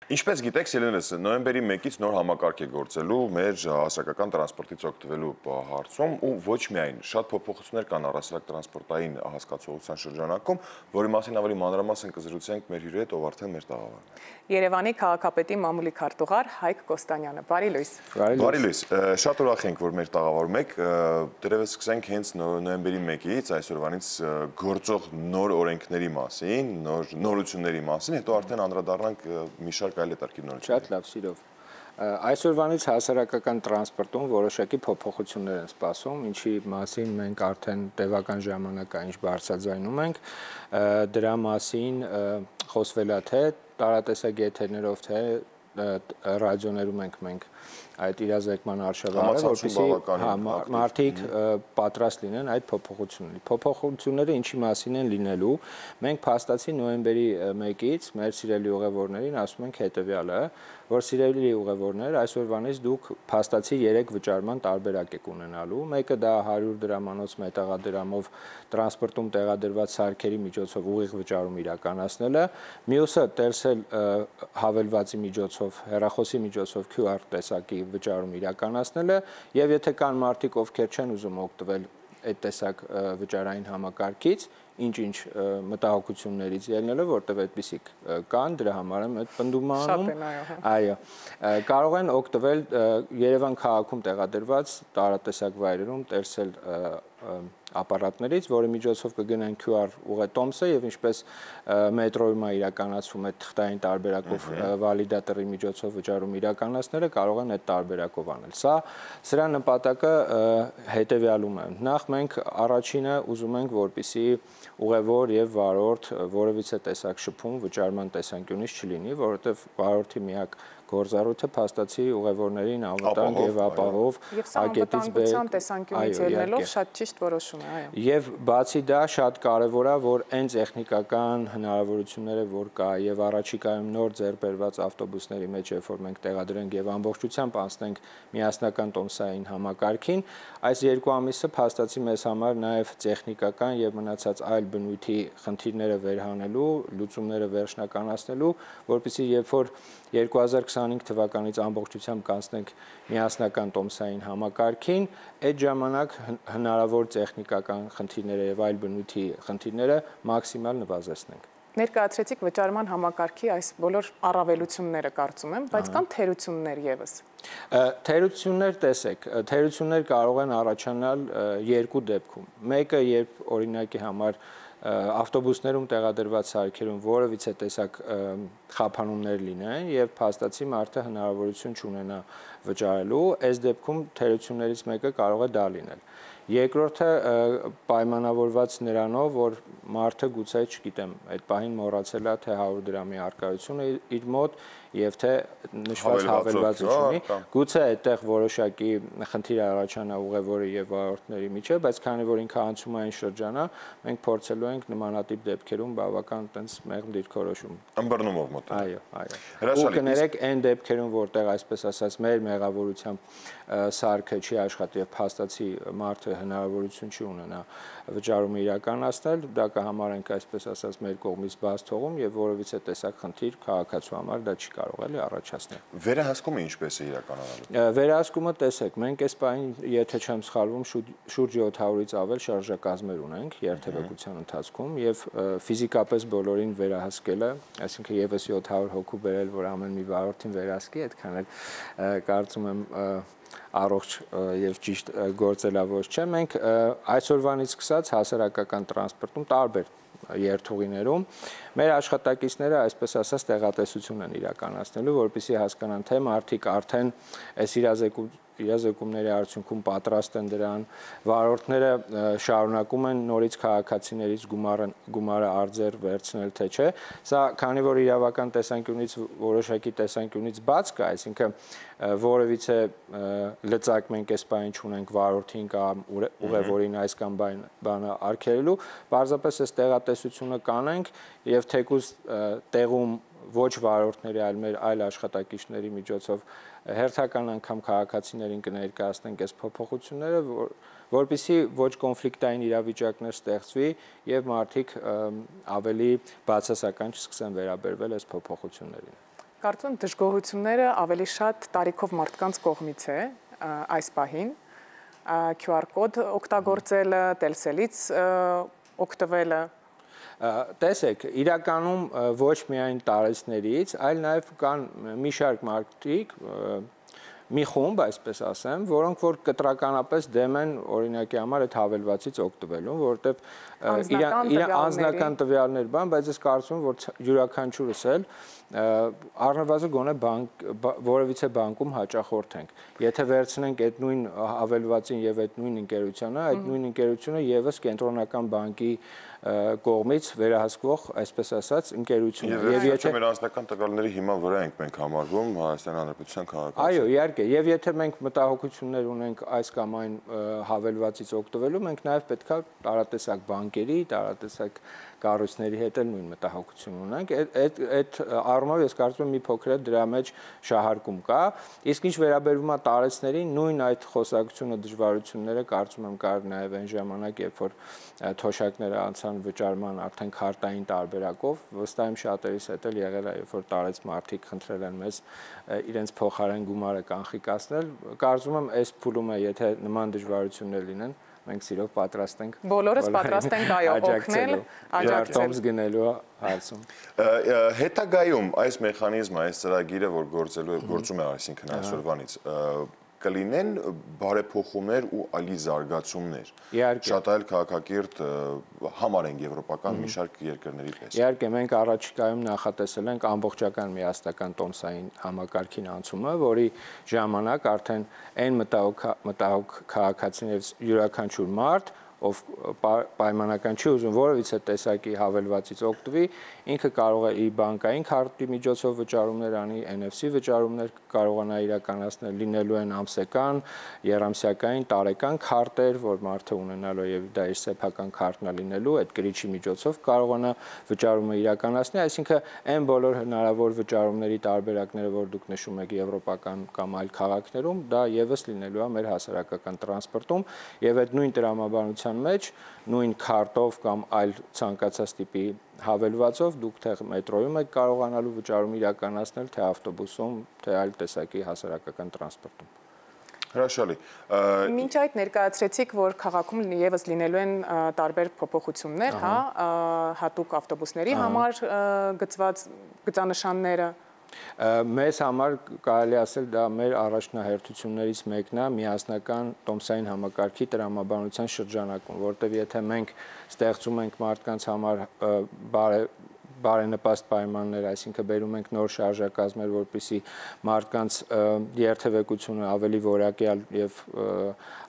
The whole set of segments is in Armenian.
Ինչպես գիտեք, Սիրելիներս, նոյեմբերի 1-ից նոր համակարգ է գործելու մեր հասարակական տրանսպորտից օգտվելու հարցում ու ոչ միայն շատ փոփոխություններ կան առհասարակ տրանսպորտային հասկացողության շրջանակում, որի մասին ավելի մանրամասն կզրուցենք մեր հյուրի հետ, ով արդեն մեր տաղավարն է։ Երևանի քաղաքապետի մամուլի քարտուղար Հայկ Կոստանյանը, բարի լույս։ Բարի լույս, շատ ուրախ ենք, որ մեր տաղավարում եք, դերևս սկսենք հենց նոյեմբերի 1-ից, այսօրվանից գործող նոր օրենքների մասին, նորությունների մասին, հետո արդեն անդրադառնանք մի շարք այլ հետաքրքիր նորությունների։ Շատ լավ, սիրով։ Այսօրվանից հասարակական տրանսպորտում որոշակի փոփոխություններ են սպասում, ինչի մասին մենք արդեն տևական ժամանակային բարձրաձայնում ենք, դրա մասին խոսվել է թե տարատեսակ եթերներով, թե ռադիոներում մենք այդ իրազեկման արշավը, որպեսզի մարդիկ պատրաստ լինեն այդ փոփոխությունների։ Փոփոխությունները ինչի մասին են լինելու, մենք փաստացի նոյեմբերի 1-ից մեր սիրելի ուղևորներին ասում ենք հետևյալը, որ սիրելի ուղևորներ, այսօրվանից դուք փաստացի 3 վճարման տարբերակ եք ունենալու։ Մեկը դա 100 դրամանոց մետաղադրամով տրանսպորտում տեղադրված սարքերի միջոցով ուղիղ վճարում իրականացնելը, մյուսը տերսել հավելվածի միջոցով, հեռախոսի միջոցով QR տեսակի վճարում իրականացնելը եւ եթե կան մարդիկ, ովքեր չեն ուզում օգտվել այդ տեսակ վճարային համակարգից, ինչ մտահոգություններից ելնելով, որտեղ այդպիսիք կան, դրա համար եմ այդ պնդումը անում։ Այո, կարող են օգտվել Երևան քաղաքում տեղադրված տարատեսակ վայրերում տերսել ապարատներից, որի միջոցով կգնան QR ուղետոմսը եւ ինչպես մետրոյում է իրականացվում այդ թղթային տարբերակով վալիդատորի միջոցով վճարում իրականացնելը կարող են այդ տարբերակով անել։ Սրա նպատակը հետեւյալում է։ Նախ մենք առաջինը ուզում ենք, որպեսզի ուղևոր եւ վարորդ որևիցե տեսակ շփում վճարման տեսանկյունից չլինի, որովհետեւ վարորդի միակ գործառույթը փաստացի ուղևորներին անվտանգ եւ ապահով ակետից տեսանկյունից ելնելով շատ ճիշտ որոշում է, այո։ Եվ բացի դա շատ կարևոր է, որ այն տեխնիկական հնարավորությունները, որ կա եւ առաջիկայում նոր ձեռբերված ավտոբուսների մեջ, երբ որ մենք տեղադրենք եւ ամբողջությամբ անցնենք միասնական տոմսային համակարգին, այս 2 ամիսը փաստացի մեզ համար նաեւ տեխնիկական եւ մնացած այլ բնույթի խնդիրները վերհանելու, լուծումները վերջնականացնելու, որպեսզի երբ որ 2025 թվականից ամբողջությամբ կանցնենք միասնական տոմսային համակարգին, այդ ժամանակ հնարավոր տեխնիկական խնդիրները եւ այլ բնույթի խնդիրները մաքսիմալ նվազեցնենք։ Ներկայացրեցիք վճարման համակարգի այս բոլոր առավելությունները կարծում եմ, բայց կան թերություններ եւս։ Թերություններ տեսեք, թերություններ կարող են առաջանալ 2 դեպքում։ Մեկը, երբ օրինակի համար ավտոբուսներում տեղադրված սարքերում որևիցե տեսակ խափանումներ լինեն եւ փաստացի մարդը հնարավորություն չունենա վճարելու, այս դեպքում թերություններից մեկը կարող է դա լինել։ Երկրորդը պայմանավորված նրանով, որ մարդը գուցե, չգիտեմ, այդ պահին մոռացել է թե 100 դրամի առկայությունը իր մոտ եւ թե նշված հավելվածը չունի, գուցե այդտեղ որոշակի խնդիր առաջանա ուղևորի եւ վարորդների միջեւ, բայց քանի որ ինքը անցումային շրջան է, մենք փորձելու ենք նմանատիպ դեպքերում բավական տենց մեղմ դիրքորոշում ըմբռնումով մոտենալ։ Այո։ Ու կներեք այն դեպքերում, որտեղ այսպես ասած մեր մեղավորությամբ սարքը չի աշխատի եւ փաստացի մարդը հնարավորություն չի ունենա վճարումը իրականացնել, դա կհամարենք այսպես ասած մեր կողմից բաց թողում եւ որևիցե տեսակ խնդիր քաղաքացու համար դա չի կարող էլի առաջացնել։ Վերահսկումը ինչպես է իրականանալու։ Վերահսկումը տեսեք, մենք այս պահին, եթե չեմ սխալվում, շուրջ 700-ից ավել շարժակազմեր ունենք երթևեկության ընթացքում եւ ֆիզիկապես բոլորին վերահսկելը, այսինքն եւս 700 հոգու բերել, որ ամեն մի վարորդին վերահսկի, այդքան էլ կարծում եմ առողջ եւ ճիշտ գործելավոր չէ։ Մենք այսօրվանից սկսած հասարակական տրանսպորտում տարբեր երթուղիներում մեր աշխատակիցները այսպես ասած տեղատեսություն են իրականացնելու, որպեսզի հասկանան թե մարդիկ արդեն այս իրազեկումների արդյունքում պատրաստ են դրան, վարորդները շարունակում են նորից քաղաքացիներից գումարը արձեր վերցնել թե չէ։ Սա քանի որ իրավական տեսանկյունից որոշակի տեսանկյունից բաց կա, այսինքն որևիցե լծակ մենք այս բանը չունենք վարորդին կամ ուղևորին այս կամ բանը արգելելու, պարզապես այս տեղատեսությունը կանենք եւ թեկուզ տեղում ոչ վարորդների, այլ մեր այլ աշխատակիցների միջոցով հերթական անգամ քաղաքացիներին կներկայացնենք այս փոփոխությունները, որպեսզի ոչ կոնֆլիկտային իրավիճակներ ստեղծվի եւ մարդիկ ավելի բացասական չսկսեն վերաբերվել այս փոփոխություններին։ Կարծում եմ դժգոհությունները ավելի շատ տարիքով մարդկանց կողմից է այս պահին։ QR կոդ օգտագործելը, Telcel-ից օգտվելը։ Տեսեք, իրականում ոչ միայն տարեցներից, այլ նաև կան մի շարք մարդիկ, մի խումբ, այսպես ասեմ, որոնք որ կտրականապես դեմ են օրինակի համար այդ հավելվածից օգտվելուն, որովհետև անձնական տվյալներ բան, բայց ես կարծում եմ, որ յուրաքանչյուրս էլ առնվազն գոնե որևիցե բանկում հաճախորդ ենք։ Եթե վերցնենք այդ նույն հավելվածին եւ այդ նույն ընկերությանը, այդ նույն ընկերությունը եւս կենտրոնական բանկի կողմից վերահսկվող, այսպես ասած, ընկերություն է։ Եվ եթե մեր անձնական տվյալների հիման վրա ենք մենք համարվում Հայաստանի Հանրապետության քաղաքացի։ Այո, իհարկե, եւ եթե մենք մտահոգություններ ունենք այս կամ այն հավելվածից օգտվելու, մենք նաեւ պետքա տարատեսակ բանկերի, տարատեսակ կառույցների հետ էլ նույն մտահոգություն ունենք։ Այդ առումով ես կարծում եմ մի փոքր է դրա մեջ շահարկում կա, իսկ ինչ վերաբերում է տարեցներին, նույն այդ խոսակցությունը դժվարությունները կարծում եմ կար նաեւ այն ժամանակ, երբ որ թոշակները անցան վճարման արդեն քարտային տարբերակով, վստահ եմ շատերիս հետ էլ եղել է, երբ որ տարեց մարդիկ խնդրել են մեզ իրենց փոխարեն գումարը կանխիկացնել, կարծում եմ այս փուլում է, եթե նման դժվարություններ լինեն, մենք սիրով պատրաստ ենք։ Բոլորս պատրաստ ենք այո օգնել, աջակցել գնելու հարցում։ Հետագայում այս մեխանիզմը, այս ծրագիրը, որ գործում է, այսինքն այսօրվանից, կլինեն բարեփոխումներ ու ալի զարգացումներ։ Շատ այլ քաղաքակիրթ համար են եվրոպական մի շարք երկրների պես։ Իհարկե, մենք առաջիկայում նախատեսել ենք ամբողջական միասնական տոմսային համակարգին անցումը, որի ժամանակ արդեն այն մտահոգ քաղաքացիներից յուրաքանչյուր մարդ, ով պայմանական չի ուզում որևիցե տեսակի հավելվածից օգտվի, ինքը կարող է իր բանկային քարտի միջոցով վճարումներ անի, NFC վճարումներ կարողանա իրականացնել, լինելու են ամսական, եռամսյակային, տարեկան քարտեր, որ մարդը ունենալու է եւ դա իր սեփական քարտն է լինելու, այդ կրիչի միջոցով կարողանա վճարումը իրականացնել, այսինքն այն բոլոր հնարավոր վճարումների տարբերակները, որ դուք նշում եք եվրոպական կամ այլ քաղաքներում, դա եւս լինելու է մեր հասարակական տրանսպորտում եւ այդ նույն տրամաբանության մեջ նույն քարտով կամ այլ ցանկացած տիպի հավելվածով դուք թե մետրոյում եք կարողանալու վճարում իրականացնել, թե ավտոբուսում, թե այլ տեսակի հասարակական տրանսպորտում։ Հրաշալի։ Մինչ այդ ներկայացրեցիք, որ քաղաքում եւս լինելու են տարբեր փոփոխություններ, հա, հատուկ ավտոբուսների համար գծված գծանշանները։ Մեզ համար կարելի ասել դա մեր առաջնահերթություններից մեկն է միասնական տոմսային համակարգի տրամաբանության շրջանակում, որտեղ եթե մենք ստեղծում ենք մարդկանց համար բարենպաստ պայմաններ, այսինքն բերում ենք նոր շարժակազմեր, որպեսզի մարդկանց երթևեկությունը ավելի որակյալ եւ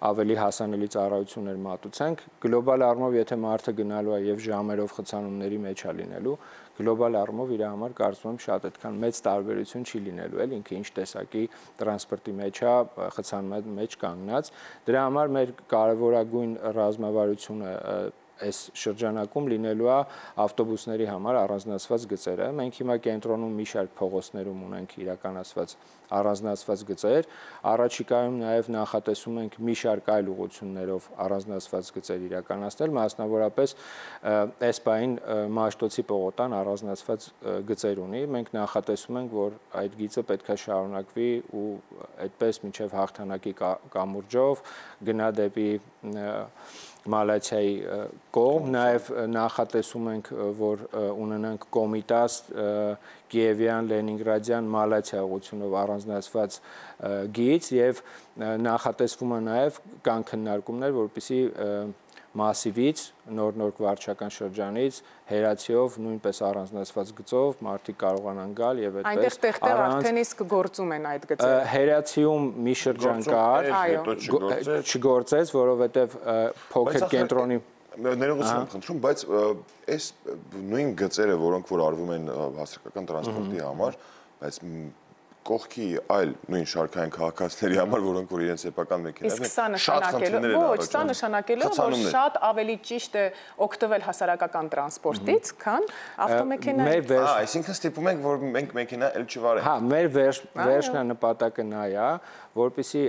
ավելի հասանելի ծառայություններ մատուցենք, գլոբալ առումով եթե մարդը գնալու է եւ ժամերով խցանումների մեջ է լինելու, գլոբալ առումով իր համար կարծում եմ շատ այդքան մեծ տարբերություն չի լինելու, էլ ինքը ինչ տեսակի տրանսպորտի մեջ է, խցանման մեջ կանգնած, դրա համար մեր կարևորագույն ռազմավարությունը այս շրջանակում լինելու է ավտոբուսների համար առանձնացված գծերը։ Մենք հիմա կենտրոնում մի շարք փողոցներում ունենք իրականացված առանձնացված գծեր, առաջիկայում նաև նախատեսում ենք մի շարք այլ ուղղություններով առանձնացված գծեր իրականացնել, մասնավորապես Էսպային Մաշտոցի պողոտան առանձնացված գծեր ունի։ Մենք նախատեսում ենք, որ այդ գիծը պետք է շարունակվի ու այդպես մինչև հաղթանակի կամուրջով գնա դեպի Մալաթիայի կողմ, նաև նախատեսում ենք, որ ունենանք Կոմիտաս, Կիևյան, Լենինգրադյան, Մալաթիա ուղղությունով առանձնացված գիծ եւ նախատեսվում է նաև կան քննարկումներ, որպեսզի Մասիվից, նոր վարչական շրջանից, Հերացիով, նույնպես առանձնացված գծով մարդիկ կարողանան գալ եւ այդպես։ Այնտեղ տեղտեղ արդեն իսկ գործում են այդ գծերը։ Հերացիում մի շրջան կար, չգործեց, որովհետեւ փոքր կենտրոնի ներողություն եմ խնդրում, բայց այս նույն գծերը, որոնք որ արվում են հասարակական տրանսպորտի համար, բայց կողքի այլ նույն շարքային քաղաքացիների համար, որոնք որ իրենց սեփական մեքենաներն են, շատ խնդիրներ են ոչ, սա նշանակելու է, որ շատ ավելի ճիշտ է օգտվել հասարակական տրանսպորտից, քան ավտոմեքենայից։ Այսինքն ստիպում ենք, որ մենք մեքենա էլ չվարենք։ Հա, մեր վերջնանպատակը նա է, որպեսզի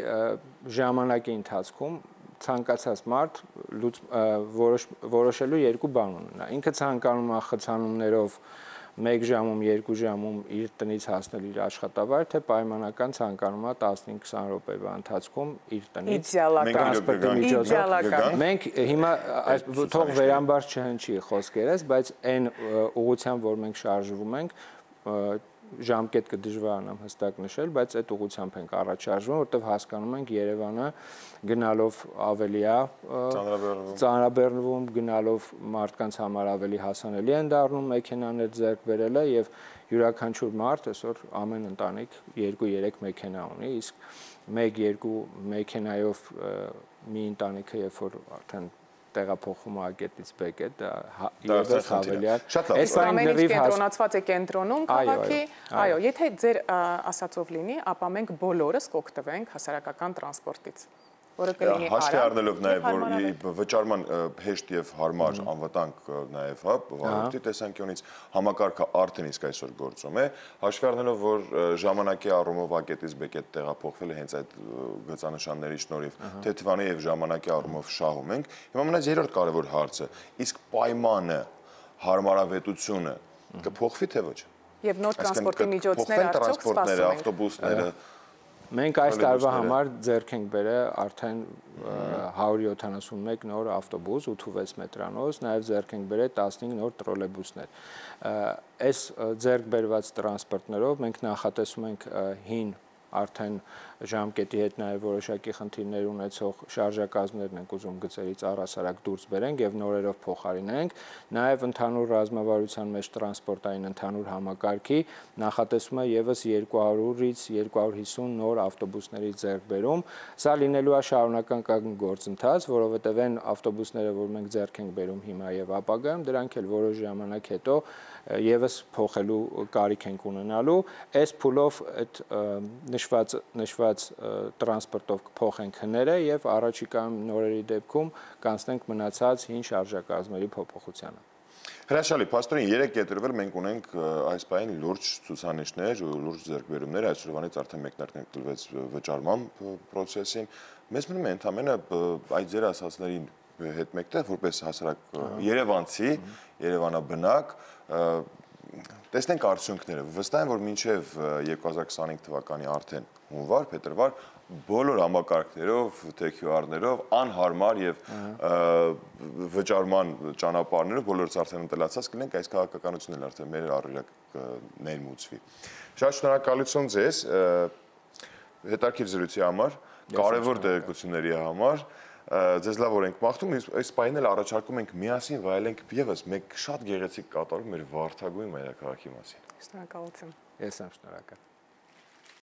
ժամանակի ընթացքում ցանկացած մարդ որոշելու երկու բան ունենա։ Ինքը ցանկանում է խցանումներով 1 ժամում, 2 ժամում իր տնից հասնել իր աշխատավայր, թե պայմանական ցանկանում է 15-20 րոպեվա ընթացքում իր տնից տրանսպորտի միջոցով։ Մենք հիմա թող վերամբար չհնչի խոսքերս, բայց այն ուղղությամբ, որ մենք շարժվում ենք, ժամկետ կդժվարանամ հստակ նշել, բայց այդ ուղղությամբ ենք առաջարժվում, որտեղ հասկանում ենք Երևանը գնալով ավելի է ծանրաբեռնվում, գնալով մարդկանց համար ավելի հասանելի են դառնում մեքենաներ ձեռք բերելը եւ յուրաքանչյուր մարդ այսօր ամեն ընտանիք 2-3 մեքենա ունի, իսկ 1-2 մեքենայով մի ընտանիքը երբ որ արդեն տեղափոխվում ակետից բեկետ, դա եւս ավելի է։ Այս ամեն ինչ կենտրոնացված է կենտրոնում քաղաքի, այո, եթե ձեր ասածով լինի, ապա մենք բոլորս կօգտվենք հասարակական տրանսպորտից, որը կլինի հաշվի առնելով նաև որ վճարման հեշտ եւ հարմար անվտանգ նաև հա վարորդի տեսանկյունից համակարգը արդեն իսկ այսօր գործում է, հաշվի առնելով որ ժամանակի առումով ակետից բեկետ տեղափոխվել է հենց այդ գծանշանների շնորհիվ թեթվանի եւ ժամանակի առումով շահում ենք, հիմա մնաց երրորդ կարևոր հարցը, իսկ պայմանը, հարմարավետությունը կփոխվի թե ոչ։ Եվ նոր տրանսպորտի միջոցները արդյոք սպասում են ավտոբուսները Մենք այս տարվա համար ձեռք ենք բերել արդեն 171 նոր ավտոբուս, 86 մետրանոց, նաև ձեռք ենք բերել 15 նոր տրոլեյբուսներ։ Այս ձեռք բերված տրանսպորտներով մենք նախատեսում ենք հին արդեն ժամկետի հետ նաև որոշակի խնդիրներ ունեցող շարժակազմներն ենք ուզում գծերից առհասարակ դուրս բերենք եւ նորերով փոխարինենք, նաև ընդհանուր ռազմավարության մեջ տրանսպորտային ընդհանուր համակարգի նախատեսում է եւս 200-ից 250 նոր ավտոբուսների ձեռքբերում, սա լինելու է շարունակական գործընթաց, որովհետեւ այն ավտոբուսները, որ մենք ձեռք ենք բերում հիմա եւ ապագայում, դրանք էլ որոշ ժամանակ հետո եւս փոխելու կարիք ենք ունենալու, այս փուլով այդ նշված տրանսպորտով կփոխենք հները եւ առաջիկայում նորերի դեպքում կանցնենք մնացած հին շարժակազմերի փոփոխությանը։ Հրաշալի, Պաստորին 3 կետրվել մենք ունենք այս պահին լուրջ ցուցանիշներ, լուրջ ձեռքբերումներ, այսօրվանից արդեն մեկնարկենք տվեց վճարման process-ին։ Մեզ մնում է ընդհանրապես այդ ձեր ասածներին հետ մեկտեղ որպես հասարակ երևանցի, երևանաբնակ տեսնենք արդյունքները։ Վստահ եմ, որ մինչև 2025 թվականի արդեն հունվար, փետրվար բոլոր համակարգներով, թե QR-ներով անհարմար եւ վճարման ճանապարհներով բոլորս արդեն ընտելացած կլինենք, այս քաղաքականությունն էլ արդեն մեր առօրյակ ներմուծվի։ Շատ շնորհակալություն ձեզ հետաքրքիր զրույցի համար, կարևոր տեղեկությունների համար։ Ձեզ լավ որ ենք մաղթում, այս պահին էլ առաջարկում ենք միասին վայելենք եւս մեկ շատ գեղեցիկ կատարում մեր Վարդագույն մայրաքաղաքի մասին։ Շնորհակալություն։ Ես եմ շնորհակալ։